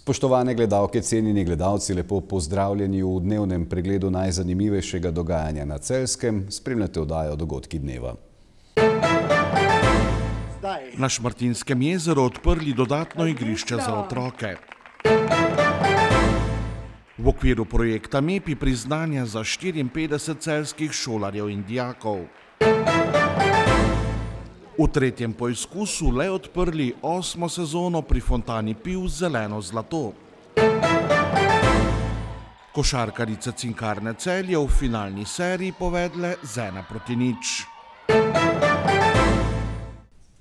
Spoštovane gledalke, cenjeni gledalci, lepo pozdravljeni v dnevnem pregledu najzanimivejšega dogajanja na Celjskem. Spremljate oddajo Dogodki dneva. Na Šmartinskem jezeru odprli dodatno igrišče za otroke. V okviru projekta MEPI priznanja za 54 celjskih šolarjev in dijakov. V tretjem poizkusu le odprli 8. sezono pri fontani Piv Zeleno zlato. Košarkarice Cinkarne Celje v finalni seriji povedle z 1:0.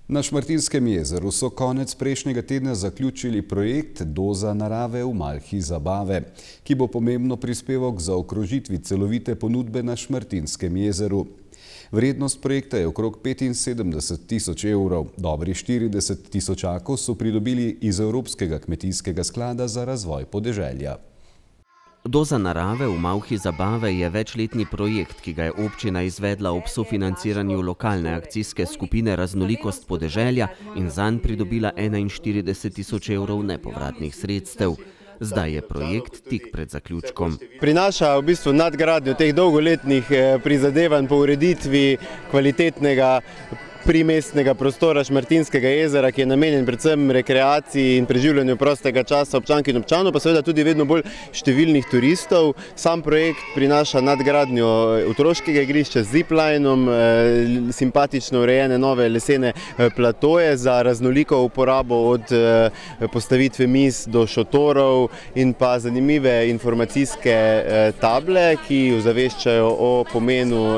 Na Šmartinskem jezeru so konec prejšnjega tedna zaključili projekt Doza narave v malhi zabave, ki bo pomembno prispeval k zaokrožitvi celovite ponudbe na Šmartinskem jezeru. Vrednost projekta je okrog 75 tisoč evrov. Dobrih 40 tisočakov so pridobili iz Evropskega kmetijskega sklada za razvoj podeželja. Doza narave v malhi zabave je večletni projekt, ki ga je občina izvedla ob sofinanciranju lokalne akcijske skupine Raznolikost podeželja in zanj pridobila 41 tisoč evrov nepovratnih sredstev. Zdaj je projekt tik pred zaključkom. Prinaša v bistvu nadgradnjo teh dolgoletnih prizadevanj po ureditvi kvalitetnega primestnega prostora Šmartinskega jezera, ki je namenjen predvsem rekreaciji in preživljanju prostega časa občank in občanov, pa seveda tudi vedno bolj številnih turistov. Sam projekt prinaša nadgradnjo otroškega igrišča z ziplinom, simpatično urejene nove lesene platoje za raznoliko uporabo od postavitve miz do šotorov in pa zanimive informacijske table, ki ozaveščajo o pomenu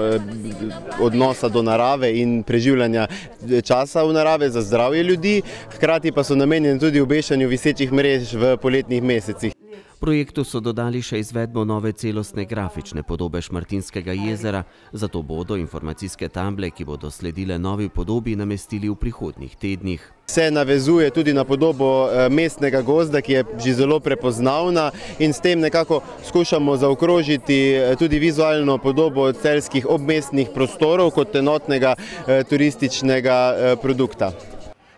odnosa do narave in preživljanja časa v narave za zdravje ljudi, hkrati pa so namenjeni tudi obešanju visečih mrež v poletnih mesecih. Projektu so dodali še izvedbo nove celostne grafične podobe Šmartinskega jezera, zato bodo informacijske table, ki bodo sledile novi podobi, namestili v prihodnjih tednih. Se navezuje tudi na podobo mestnega gozda, ki je že zelo prepoznavna in s tem nekako skušamo zaokrožiti tudi vizualno podobo celjskih obmestnih prostorov kot enotnega turističnega produkta.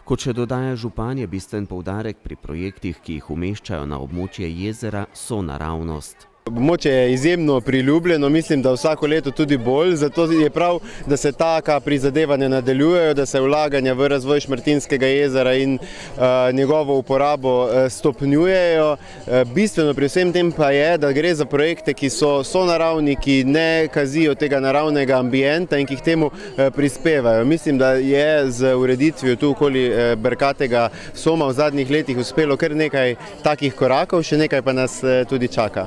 Kot še dodaja župan, je bistven poudarek pri projektih, ki jih umeščajo na območje jezera, sonaravnost. Območje je izjemno priljubljeno, mislim, da vsako leto tudi bolj, zato je prav, da se taka prizadevanja nadaljujejo, da se vlaganja v razvoj Šmartinskega jezera in njegovo uporabo stopnjujejo. Bistveno pri vsem tem pa je, da gre za projekte, ki so sonaravni, ki ne kazijo tega naravnega ambienta in ki k temu prispevajo. Mislim, da je z ureditvijo tu okoli Brkatega Soma v zadnjih letih uspelo kar nekaj takih korakov, še nekaj pa nas tudi čaka.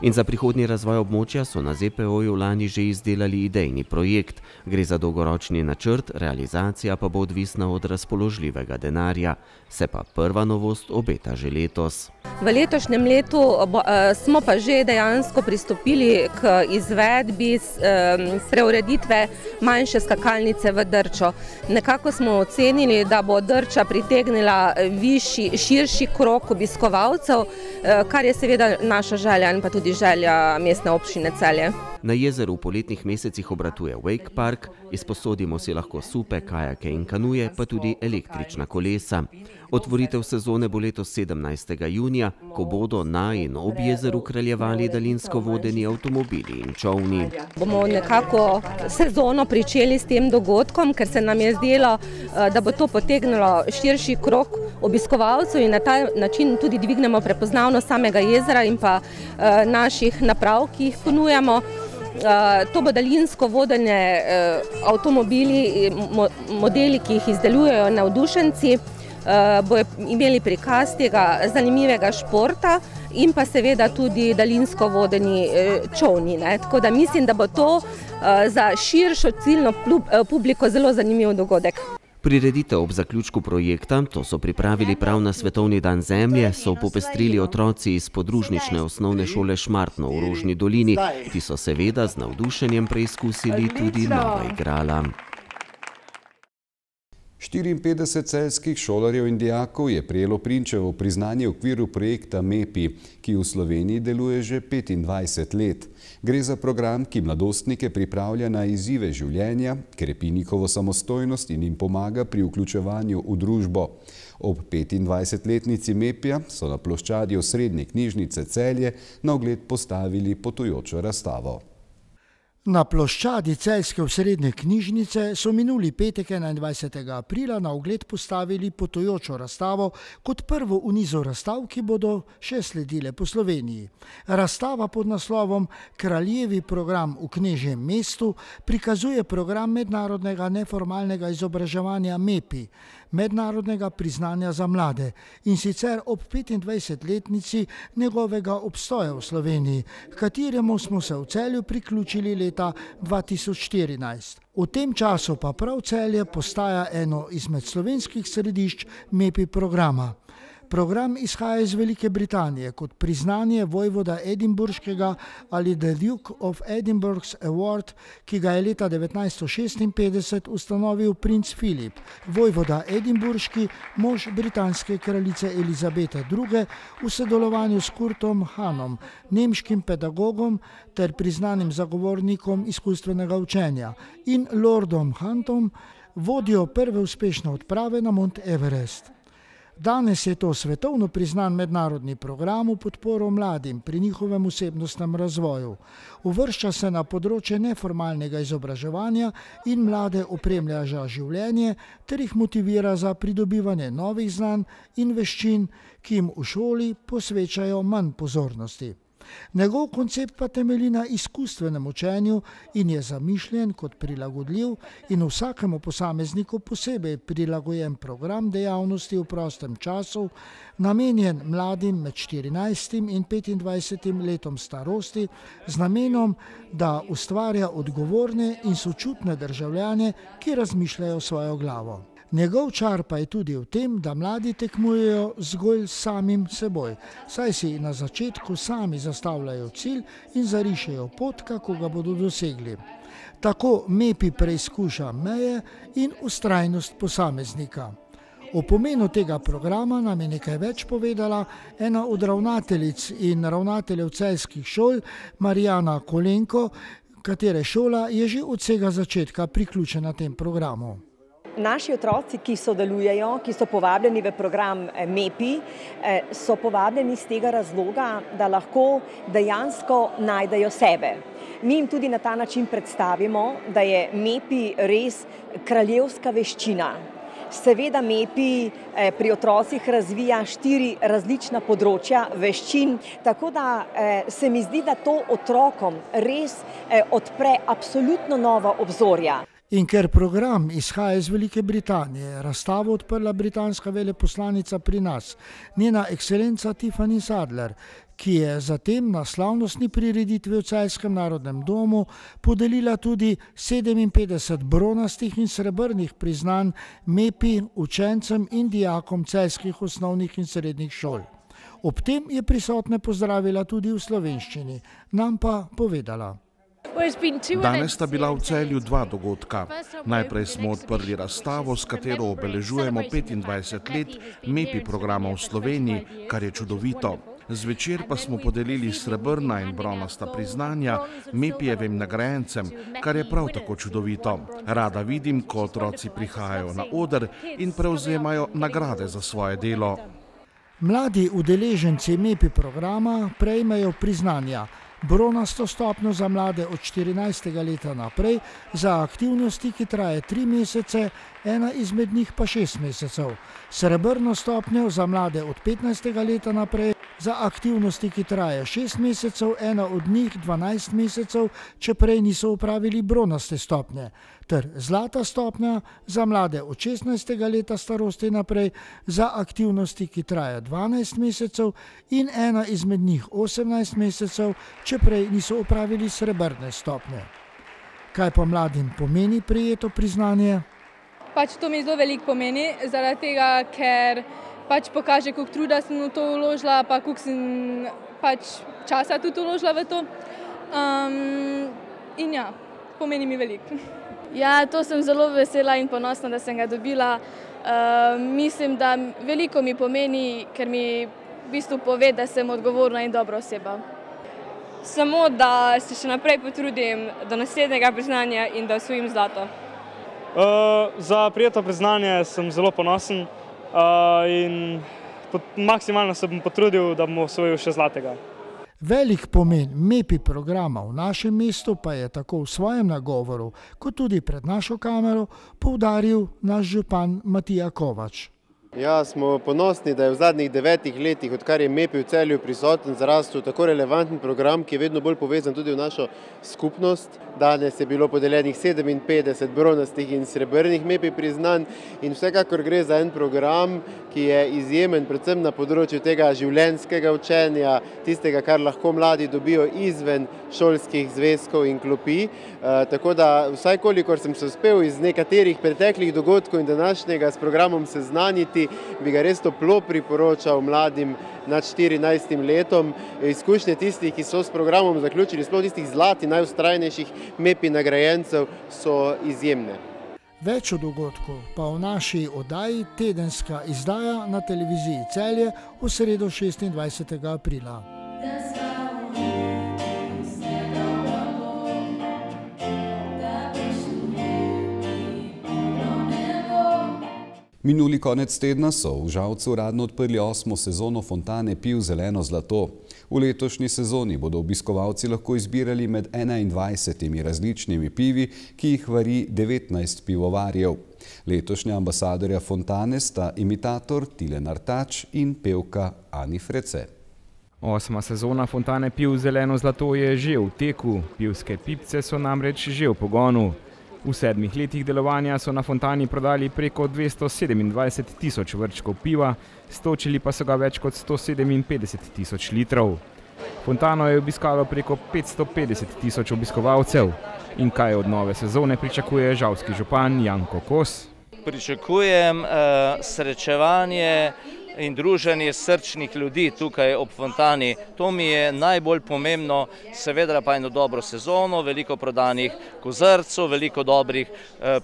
In za prihodnji razvoj območja so na ZPO-ju lani že izdelali idejni projekt. Gre za dolgoročni načrt, realizacija pa bo odvisna od razpoložljivega denarja. Se pa prva novost obeta že letos. V letošnjem letu smo pa že dejansko pristopili k izvedbi preureditve manjše skakalnice v Drčo. Nekako smo ocenili, da bo Drča pritegnila širši krog obiskovalcev, kar je seveda naša želja in pa tudi želja mestne občine Celje. Na jezeru v poletnih mesecih obratuje wake park, izposodimo si lahko supe, kajake in kanuje, pa tudi električna kolesa. Otvoritev sezone bo letos 17. junija, ko bodo na in ob jezeru kraljevali daljinsko vodeni avtomobili in čolni. Bomo nekako sezono pričeli s tem dogodkom, ker se nam je zdelo, da bo to potegnilo širši krog obiskovalcev in na ta način tudi dvignemo prepoznavnost samega jezera in pa naših naprav, ki jih ponujamo. To bo daljinsko vodene avtomobili, modeli, ki jih izdelujejo navdušenci, bodo imeli prikaz tega zanimivega športa in pa seveda tudi daljinsko vodeni čolni. Tako da mislim, da bo to za širšo ciljno publiko zelo zanimiv dogodek. Prireditev ob zaključku projekta, to so pripravili prav na Svetovni dan zemlje, so popestrili otroci iz podružnične osnovne šole Šmartno v Rožni dolini. Ti so seveda z navdušenjem preizkusili tudi nova igrala. 54 celjskih šolarjev in dijakov je prejelo Prinčevo priznanje v okviru projekta MEPI, ki v Sloveniji deluje že 25 let. Gre za program, ki mladostnike pripravlja na izzive življenja, krepi njihovo samostojnost in jim pomaga pri vključevanju v družbo. Ob 25-letnici MEPI-ja so na ploščadi Osrednje knjižnice Celje na ogled postavili potujočo razstavo. Na ploščadi celjske osrednje knjižnice so minuli petek 21. aprila na ogled postavili potujočo razstavo kot prvo v nizu razstav, ki bodo še sledile po Sloveniji. Razstava pod naslovom Kraljevi program v knežjem mestu prikazuje program mednarodnega neformalnega izobraževanja MEPI, mednarodnega priznanja za mlade, in sicer ob 25-letnici njegovega obstoja v Sloveniji, kateremu smo se v Celju priključili leta 2014. V tem času pa prav Celje postaja eno izmed slovenskih središč MEPI programa. Program izhaja iz Velike Britanije kot priznanje vojvoda edinburškega ali The Duke of Edinburgh's Award, ki ga je leta 1956 ustanovil princ Filip, vojvoda edinburški, mož britanske kraljice Elizabete II. V sodelovanju s Kurtom Hanom, nemškim pedagogom ter priznanim zagovornikom izkustvenega učenja, in Lordom Huntom, vodjo prve uspešne odprave na Mount Everest. Danes je to svetovno priznan mednarodni program v podporo mladim pri njihovem osebnostnem razvoju. Uvršča se na področje neformalnega izobraževanja in mlade opremlja za življenje ter jih motivira za pridobivanje novih znanj in veščin, ki jim v šoli posvečajo manj pozornosti. Njegov koncept pa temelji na izkustvenem učenju in je zamišljen kot prilagodljiv in vsakemu posamezniku posebej prilagojen program dejavnosti v prostem času, namenjen mladim med 14 in 25 letom starosti, z namenom, da ustvarja odgovorne in sočutne državljane, ki razmišljajo svojo glavo. Njegov čar pa je tudi v tem, da mladi tekmujejo zgolj samim seboj, saj si na začetku sami zastavljajo cilj in zarišejo pot, kako ga bodo dosegli. Tako MEPI preizkuša meje in vztrajnost posameznika. O pomenu tega programa nam je nekaj več povedala ena od ravnateljic in ravnateljev celjskih šol, Marijana Kolenko, katere šola je že od vsega začetka priključena tem programu. Naši otroci, ki sodelujejo, ki so povabljeni v program MEPI, so povabljeni iz tega razloga, da lahko dejansko najdejo sebe. Mi jim tudi na ta način predstavimo, da je MEPI res kraljevska veščina. Seveda MEPI pri otrocih razvija 4 različna področja veščin, tako da se mi zdi, da to otrokom res odpre absolutno nova obzorja. In ker program izhaja iz Velike Britanije, razstavo odprla britanska veleposlanica pri nas, njena ekscelenca Tiffany Sadler, ki je zatem na slavnostni prireditvi v Celjskem narodnem domu podelila tudi 57 bronastih in srebrnih priznanj MEPI učencem in dijakom celjskih osnovnih in srednjih šol. Ob tem je prisotne pozdravila tudi v slovenščini, nam pa povedala. Danes sta bila v Celju 2 dogodka. Najprej smo odprli razstavo, s katero obeležujemo 25 let MEPI programa v Sloveniji, kar je čudovito. Zvečer pa smo podelili srebrna in bronasta priznanja MEPI-jevim nagrajencem, kar je prav tako čudovito. Rada vidim, ko otroci prihajajo na oder in prevzemajo nagrade za svoje delo. Mladi udeleženci MEPI programa prejmejo priznanja. Bronasto stopnjo za mlade od 14. leta naprej, za aktivnosti, ki traje 3 mesece, ena izmed njih pa 6 mesecev. Srebrno stopnjo za mlade od 15. leta naprej, za aktivnosti, ki traje 6 mesecev, ena od njih 12 mesecev, če prej niso upravili bronaste stopnje. Ter zlata stopnja za mlade od 16. leta starosti naprej, za aktivnosti, ki traje 12 mesecev in ena izmed njih 18 mesecev, če prej niso upravili srebrne stopnje. Kaj pa mladim pomeni prejeto priznanje? To mi zelo veliko pomeni, zaradi tega, ker pokaže, koliko truda sem v to vložila, pa koliko sem časa tudi vložila v to. In ja, pomeni mi veliko. Ja, to sem zelo vesela in ponosna, da sem ga dobila. Mislim, da veliko mi pomeni, ker mi v bistvu pove, da sem odgovorna in dobra oseba. Samo, da se še naprej potrudim do naslednjega priznanja in da osvojim zlato. Za prijeto priznanje sem zelo ponosen in maksimalno se bom potrudil, da bom osvojil še zlatega. Velik pomen MEPI programa v našem mestu pa je tako v svojem nagovoru, kot tudi pred našo kamero, poudaril naš župan Matija Kovač. Ja, smo ponosni, da je v zadnjih 9 letih, odkar je MEPI v Celju prisoten, zarastel tako relevanten program, ki je vedno bolj povezan tudi v našo skupnost. Danes je bilo podeljenih 57 bronastih in srebrnih MEPI priznanj in vsekakor gre za en program, ki je izjemen predvsem na področju tega življenjskega učenja, tistega, kar lahko mladi dobijo izven šolskih zvezkov in klopi. Tako da vsaj kolikor sem se uspel iz nekaterih preteklih dogodkov in današnjega s programom seznaniti, bi ga res toplo priporočal mladim nad 14 letom. Izkušnje tistih, ki so s programom zaključili, sploh tistih zlatih, najvztrajnejših MEPI nagrajencev, so izjemne. Več o dogodku pa v naši oddaji Tedenska izdaja na televiziji Celje v sredo 26. aprila. Minuli konec tedna so v Žalcu uradno odprli 8. sezono fontane piv Zeleno zlato. V letošnji sezoni bodo obiskovalci lahko izbirali med 21 različnimi pivi, ki jih vari 19 pivovarjev. Letošnja ambasadorja fontane sta imitator Tilen Artač in pevka Ani Frece. 8. sezona fontane piv Zeleno zlato je že v teku, pivske pipce so namreč že v pogonu. V 7 letih delovanja so na fontani prodali preko 227 tisoč vrčkov piva, stočili pa so ga več kot 157 tisoč litrov. Fontano je obiskalo preko 550 tisoč obiskovalcev. In kaj od nove sezone pričakuje žalski župan Janko Kos? Pričakujem srečevanje in druženje srčnih ljudi tukaj ob fontani. To mi je najbolj pomembno, seveda pa eno dobro sezono, veliko prodanih kozarcev, veliko dobrih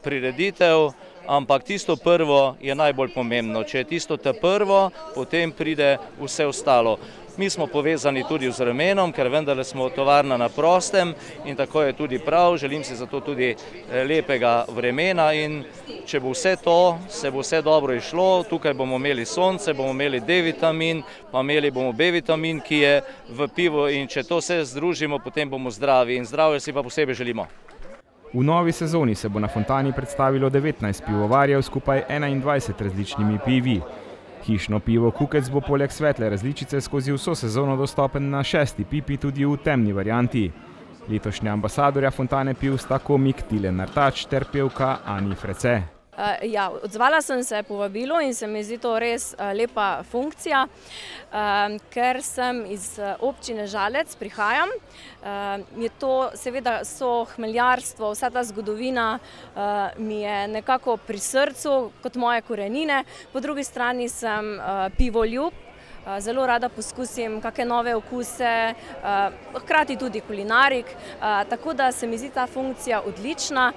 prireditev, ampak tisto prvo je najbolj pomembno. Če je tisto prvo, potem pride vse ostalo. Mi smo povezani tudi z Ramenom, ker vendarle smo tovarna na prostem in tako je tudi prav. Želim si zato tudi lepega vremena in če bo vse to, se bo vse dobro išlo. Tukaj bomo imeli sonce, bomo imeli D-vitamin, pa imeli bomo B-vitamin, ki je v pivu in če to vse združimo, potem bomo zdravi in zdravje si pa posebej želimo. V novi sezoni se bo na fontani predstavilo 19 pivovarjev skupaj 21 različnimi pivi. Hišno pivo Kukec bo poleg svetle različice skozi vso sezono dostopen na 6. pipi tudi v temni varianti. Letošnja ambasadorja fontane piv sta komik Tilen Artač ter pevka Ani Frece. Ja, odzvala sem se povabilu in se mi zdi to res lepa funkcija, ker sem iz občine Žalec, prihajam. Je to seveda so hmeljarstvo, vsa ta zgodovina mi je nekako pri srcu kot moje korenine. Po drugi strani sem pivoljub, zelo rada poskusim kakšne nove okuse, hkrati tudi kulinarik, tako da se mi zdi ta funkcija odlična.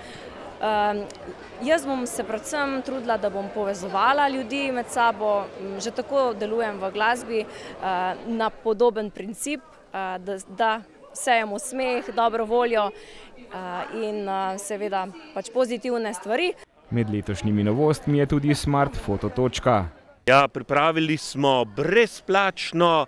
Jaz bom se predvsem trudila, da bom povezovala ljudi med sabo, že tako delujem v glasbi na podoben princip, da sejemo smeh, dobro voljo in seveda pač pozitivne stvari. Med letošnjimi novostmi je tudi Smart Foto točka. Ja, pripravili smo brezplačno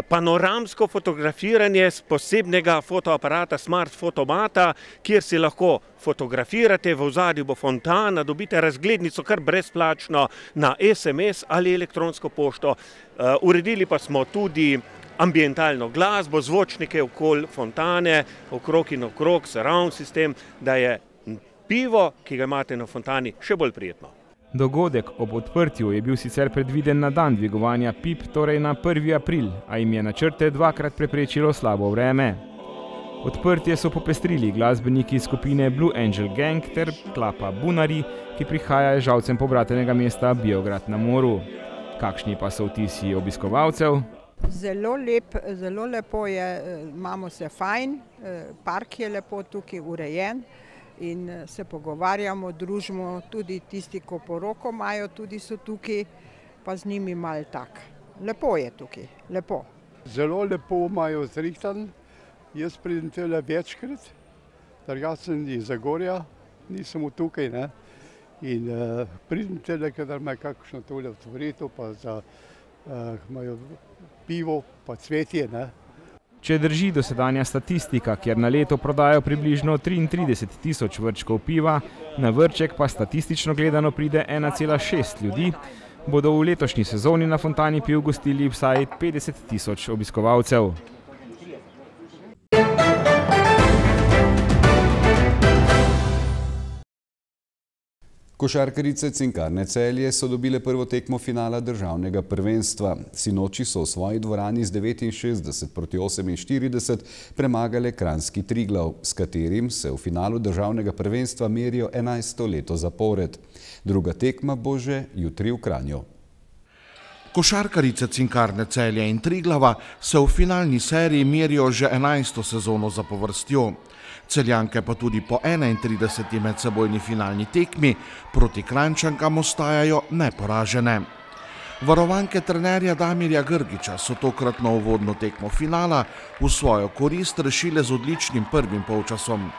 panoramsko fotografiranje z posebnega fotoaparata Smart Fotomata, kjer si lahko fotografirate, v ozadju bo fontana, dobite razglednico kar brezplačno na SMS ali elektronsko pošto. Uredili pa smo tudi ambientalno glasbo, zvočnike okoli fontane, okrog in okrog, surround sistem, da je pivo, ki ga imate na fontani, še bolj prijetno. Dogodek ob odprtju je bil sicer predviden na dan dvigovanja pip, torej na 1. april, a jim je načrte dvakrat preprečilo slabo vreme. Odprtje so popestrili glasbeniki skupine Blue Angel Gang ter klapa Bunari, ki prihaja iz Žalcem pobratenega mesta Biograd na Moru. Kakšni pa so vtisi obiskovalcev? Zelo lepo je, imamo se fajn, park je lepo tukaj urejen in se pogovarjamo, družimo, tudi tisti, ko poroko imajo, tudi so tukaj, pa z njimi malo tak. Lepo je tukaj, lepo. Zelo lepo imajo zrihtan, jaz pridem tele večkrat, drugače sem iz Zagorja, nisem tukaj, ne. In pridem tele, kadar imajo kakšno tole otvoritev, pa imajo pivo, pa cvetje, ne. Če drži dosedanja statistika, kjer na leto prodajo približno 33 tisoč vrčkov piva, na vrček pa statistično gledano pride 1,6 ljudi, bodo v letošnji sezoni na Fontani piv gostili vsaj 50 tisoč obiskovalcev. Košarkarice Cinkarne Celje so dobile prvo tekmo finala državnega prvenstva. Sinoči so v svoji dvorani z 69-48 premagale kranjski Triglav, s katerim se v finalu državnega prvenstva merijo 11. leto zapored. Druga tekma bo že jutri v Kranju. Košarkarice Cinkarne Celje in Triglava se v finalni seriji merijo že 11. sezono zapovrstjo. Celjanke pa tudi po 31. medsebojni finalni tekmi proti Kranjčankam ostajajo neporažene. Varovanke trenerja Damirja Grgiča so tokratno uvodno tekmo finala v svojo korist rešile z odličnim prvim polčasom.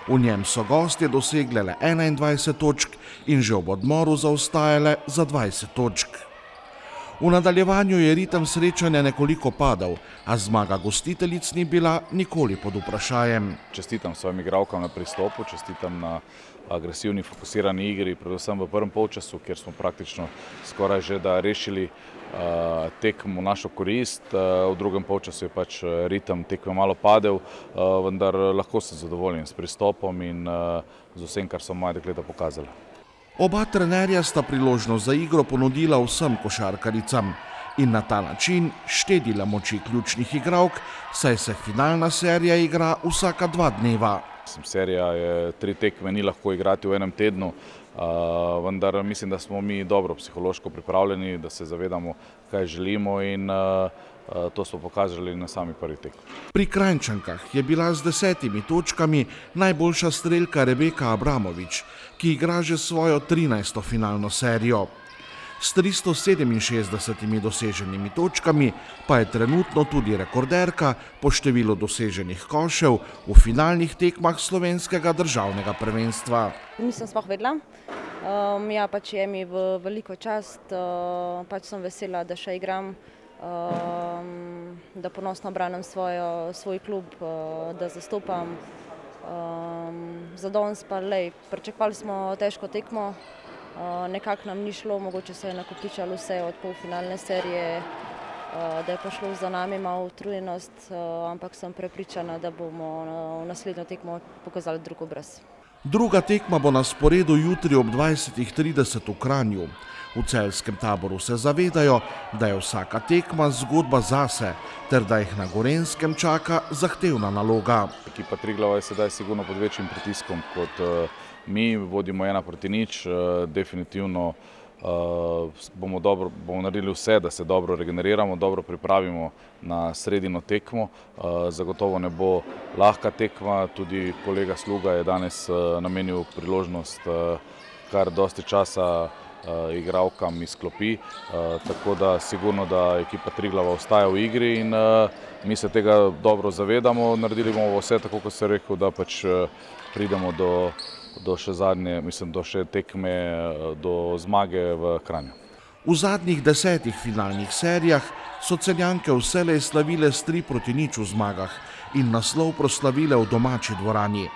V njem so gostje dosegle le 21 točk in že ob odmoru zaostajale za 20 točk. V nadaljevanju je ritem srečanja nekoliko padal, a zmaga gostiteljic ni bila nikoli pod vprašajem. Čestitam svojim igralkam na pristopu, čestitam na agresivni, fokusirani igri, predvsem v prvem polčasu, kjer smo praktično skoraj že da rešili tekmo v našo korist. V drugem polčasu je pač ritem tekme malo padel, vendar lahko sem zadovoljen s pristopom in z vsem, kar so moje dekleta pokazali. Oba trenerja sta priložnost za igro ponudila vsem košarkaricam in na ta način štedila moči ključnih igralk, saj se finalna serija igra vsaka 2 dneva. Serija je 3 tekme, ni lahko igrati v enem tednu, vendar mislim, da smo mi dobro psihološko pripravljeni, da se zavedamo, kaj želimo in to smo pokazali na sami prvi tekmi. Pri Kranjčankah je bila z 10 točkami najboljša strelka Rebeka Abramovič, ki igra že svojo 13. finalno serijo. S 367 doseženimi točkami pa je trenutno tudi rekorderka po številu doseženih košev v finalnih tekmah slovenskega državnega prvenstva. Nisem sploh vedela. Ja, pač je mi v veliko čast, pač sem vesela, da še igram, da ponosno branim svoj klub, da zastopam. Za danes pa lej, pričakovali smo težko tekmo, nekako nam ni šlo, mogoče se je nakopičalo vse od polfinalne serije, da je pa šlo za nami malo utrujenost, ampak sem prepričana, da bomo v naslednjo tekmo pokazali drug obraz. Druga tekma bo na sporedu jutri ob 20:30 v Kranju. V celjskem taboru se zavedajo, da je vsaka tekma zgodba zase, ter da jih na Gorenjskem čaka zahtevna naloga. Ekipa Triglava je sedaj sigurno pod večjim pritiskom kot mi, vodimo 1-0, definitivno bomo naredili vse, da se dobro regeneriramo, dobro pripravimo na sredino tekmo. Zagotovo ne bo lahka tekma, tudi kolega Sluga je danes namenil priložnost kar dosti časa igralkam iz klopi, tako da sigurno, da ekipa Triglava ostaja v igri in mi se tega dobro zavedamo. Naredili bomo vse, tako kot sem rekel, da pač pridemo do še zadnje, mislim, do še tekme, do zmage v Kranju. V zadnjih 10 finalnih serijah so Celjanke vselej slavile s 3-0 v zmagah in naslov proslavile v domači dvorani.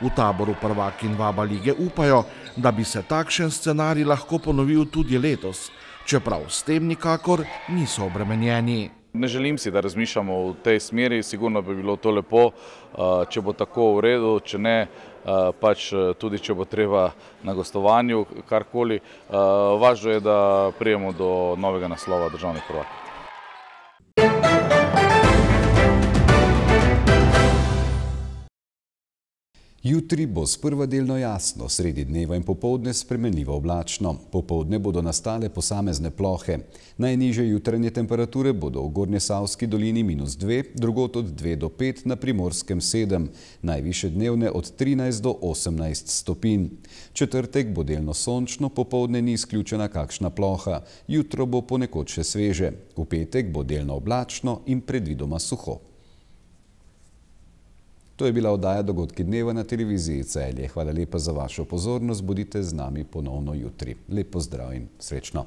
V taboru prvakinj Vaba lige upajo, da bi se takšen scenarij lahko ponovil tudi letos, čeprav s tem nikakor niso obremenjeni. Ne želim si, da razmišljamo v tej smeri, sigurno bi bilo to lepo, če bo tako v redu, če ne, pač tudi če bo treba na gostovanju, karkoli. Važno je, da prijemo do novega naslova državnih prvakov. Jutri bo sprva delno jasno, sredi dneva in popoldne spremenljivo oblačno. Popoldne bodo nastale posamezne plohe. Najnižje jutranje temperature bodo v Gornjesavski dolini -2, drugod od 2 do 5, na Primorskem 7, najvišje dnevne od 13 do 18 stopinj. Četrtek bo delno sončno, popoldne ni izključena kakšna ploha. Jutro bo ponekod še sveže. V petek bo delno oblačno in predvidoma suho. To je bila oddaja Dogodki dneva na televiziji Celje. Hvala lepa za vašo pozornost, bodite z nami ponovno jutri. Lep pozdrav in srečno.